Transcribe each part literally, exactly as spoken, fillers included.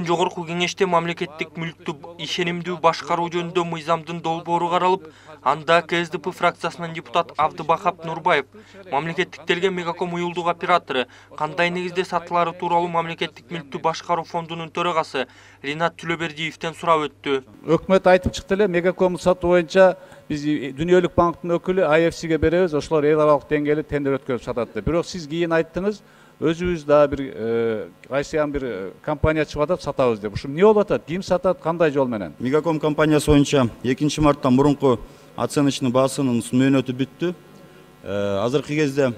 Бүгүн жогорку кеңеште мамлекеттик мүлктү ишенимдүү башкаруу жөнүндө мыйзамдын долбоору каралып, анда КСДП фракциясынын депутат Абдыбахап Нурбаев мамлекеттиктелген Мегаком уюлдук оператору кандай негизде сатылары тууралуу мамлекеттик мүлктү башкаруу фондунун төрагасы Ринат Түлөбердиевден сурап өттү. Өкмөт айтып чыкты эле, Мегаком сатуу боюнча биз Дүнүйөлүк банктын өкүлү ай эф сиге беребиз, ошолор эл аралык деңгээлде тендер өткөрүп сатат деп. Бирок сиз кийин айттыңыз, өзүбүз да бир кайсыян бир компания чыгып атат, сатабыз деп. Ушу эмне болуп атат? Ким сатат, кандай жол менен? Мегаком компаниясы боюнча экинчи марттан мурунку оценочный баасынын мөөнөтү бүттү. Азыркы кезде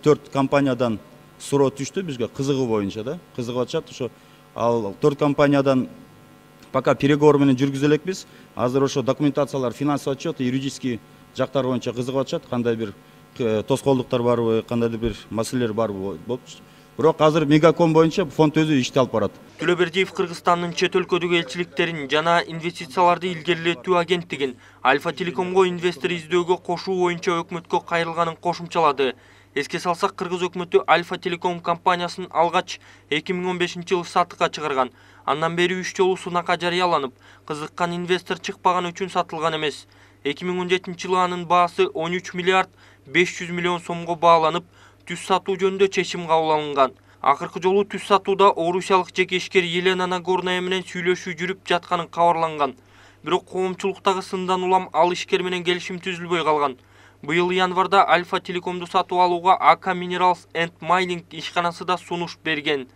төрт компаниядан суроо түштү бизге кызыгуу боюнча да, кызыгып атышат. Ошо ал төрт компаниядан пока переговор менен жүргүзө элекпиз. Азыр ошо документациялар, финансовый отчет, юридический жактар боюнча кызыгып атышат. Кандай бир тоскоолдуктар барбы, кандайдыр бир маселелер барбы болуп. Бирок азыр Мегаком боюнча фонд өзү ишти алып барат. Түлөбердиев Кыргызстандын чет өлкөдөгү элчиликтерин жана инвестицияларды илгерилетүү агенттигин Альфа Телекомго инвестор издөөгө кошуу боюнча өкмөткө кайрылганын кошумчалады. Эске салсак, Кыргыз өкмөтү Альфа Телеком компаниясын алгач эки миң он бешинчи жылы сатыкка чыгарган. Андан бери үч жолу сунакка жарыяланып, кызыккан инвестор чыкпаган үчүн сатылган эмес. эки миң он жетинчи жылы анын баасы он үч миллиард беш жүз миллион сомго бааланып, түз сатуу жөнүндө чечим кабыл алынган. Акыркы жолу түз сатууда орусиялык жекешкер Елена Нагорная менен сүйлөшүү жүрүп жатканын кабарланган. Бирок коомчулуктагы сындан улам ал ишкер менен келишим түзүлбөй калган. Быйыл январда Альфа Телекомду сатып алууга АК Minerals and Mining ишканасы да сунуш берген.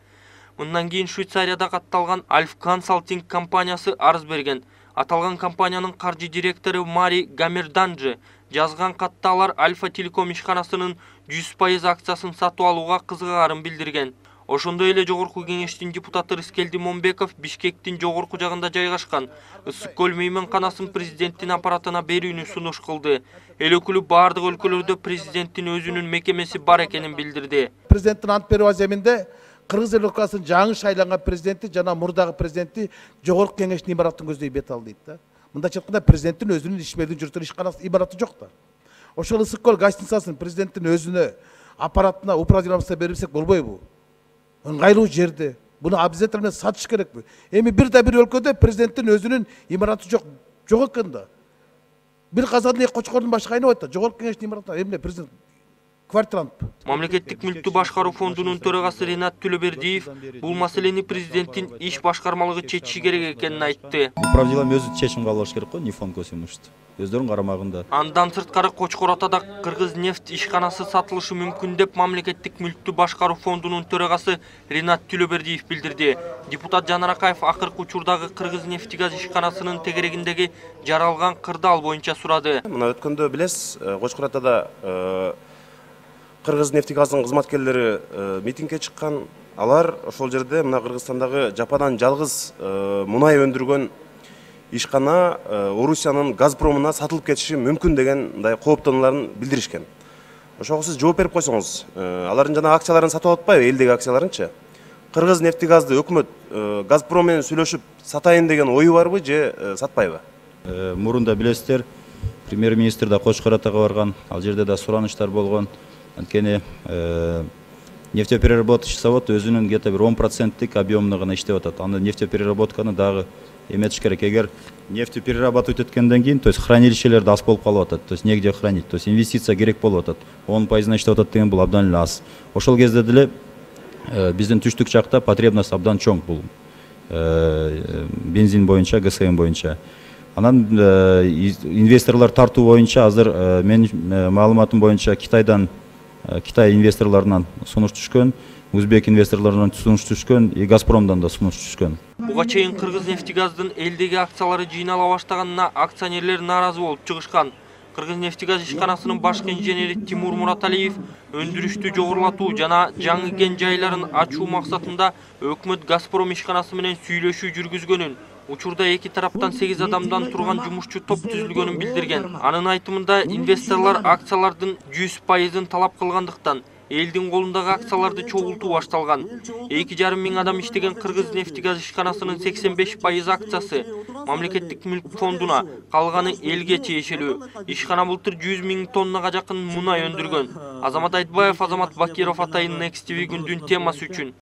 Мындан кийин Швейцарияда катталган Альф Консалтинг компаниясы арыз берген. Аталган компаниянын каржы директору Мари Гамерданжы жазган катта алар Альфа Телеком ишканасынын жүз пайыз акциясын сатып алууга кызыгаарын билдирген. Ошондой эле жогорку кеңештин депутаты Рыскелди Момбеков Бишкектин жогорку жагында жайгашкан Ысык көл мейманканасын президенттин аппаратына берүүнү сунуш кылды. Эл өкүлү бардык өлкөлөрдө президенттин өзүнүн мекемеси бар экенин билдирди. Президенттин ант берүү аземинде Кыргыз Республикасынын жаңы шайланган президенти жана мурдагы президенти жогорку кеңештин имаратын көздөй бет алды дейт да. Мындайча айтканда президенттин өзүнүн ишмердиги жүргүзгөн ишканасы имараты жок да. Ошол Ысык көл гостиницасын президенттин өзүнө аппаратына управлениесине берсек болбойбу? Ыңгайлуу жерде. Буну обязательно сатыш керекпи? Эми бир да бир өлкөдө президенттин өзүнүн имараты жок, жок экен да. Бир казанды эки кочкордун башы кайнап атат. Жогорку кеңештин имаратына эмне президент квартирант. Мамлекеттик мүлктү башкаруу фондунун төрагасы Ринат Түлөбердиев бул маселени президенттин иш башкармалыгы чечиши керек экенин айтты. Управдилам өзү чечим кабыл алыш керек го, не фонд көзөмөлчү. Өздөрүнүн карамагында. Андан сырткары Кочкор Атада Кыргыз нефть ишканасы сатылышы мүмкүн деп мамлекеттик мүлктү башкаруу фондунун төрагасы Ринат Түлөбердиев билдирди. Депутат Жанар Акаев акыркы учурдагы Кыргыз нефтегаз ишканасынын тегерегиндеги жаралган кырдаал боюнча сурады. Мына өткөндө билесиз, Кочкор Атада Кыргыз нефтегаздын кызматкерлери митингге чыккан. Алар ошол жерде мына Кыргызстандагы жападан жалгыз мунай өндүргөн ишкана Орусиянын Газпромуна сатылып кетиши мүмкүн деген мындай кооптонууларын билдиришкен. Ошого сиз жооп берип койсоңуз, алардын жана акцияларын сатып атпайбы, элдеги акцияларынчы? Кыргыз нефтегазды өкмөт Газпром менен сүйлөшүп сатайын деген ою барбы же сатпайбы? Мурунда билесиздер, премьер-министр да Кочкор Атага барган, ал жерде да сураныштар болгон. Анткени нефтепереработочный завод өзүнүн где-то бир он проценттик объемуна гана иштеп атат. Аны нефтепереработканы дагы эметиш керек. Эгер нефть перерабатывать эткенден кийин, то есть хранилищелерде аз болуп калып атат. То есть негде хранить. То есть инвестиция керек болуп атат. он пайызына иштеп атат деген бул абдан эле аз. Ошол кезде деле биздин түштүк жакта потребность абдан чоң бул бензин боюнча, ГСМ боюнча. Анан инвесторлор тартуу боюнча азыр менин маалыматым боюнча Китайдан Китай инвесторлорунан сунуш түшкөн, Узбек инвесторлорунан сунуш түшкөн, и Газпромдон да сунуш түшкөн. Буга чейин Кыргыз нефтегаздын элдеги акциялары жыйнала баштаганына акционерлер нааразы болуп чыгышкан. Кыргыз нефтегаз ишканасынын башкы инженери Тимур Мураталиев өндүрүштү жогорулатуу жана жаңы кен жайларын ачуу максатында өкмөт Газпром ишканасы менен сүйлөшүү жүргүзгөнүн, учурда эки тараптан сегиз адамдан турган жумушчу топ түзүлгөнүн билдирген. Анын айтымында инвесторлор акциялардын жүз пайызын талап кылгандыктан элдин колундагы акцияларды чогултуу башталган. эки жарым миң адам иштеген Кыргыз нефтегаз ишканасынын сексен беш пайыз акциясы мамлекеттик мүлк фондуна, калганы элге тиешелүү. Ишкана былтыр жүз миң тоннага жакын мунай өндүргөн. Азамат Айтбаев, Азамат Бакиров, Атайын Next ти ви күндүн темасы үчүн.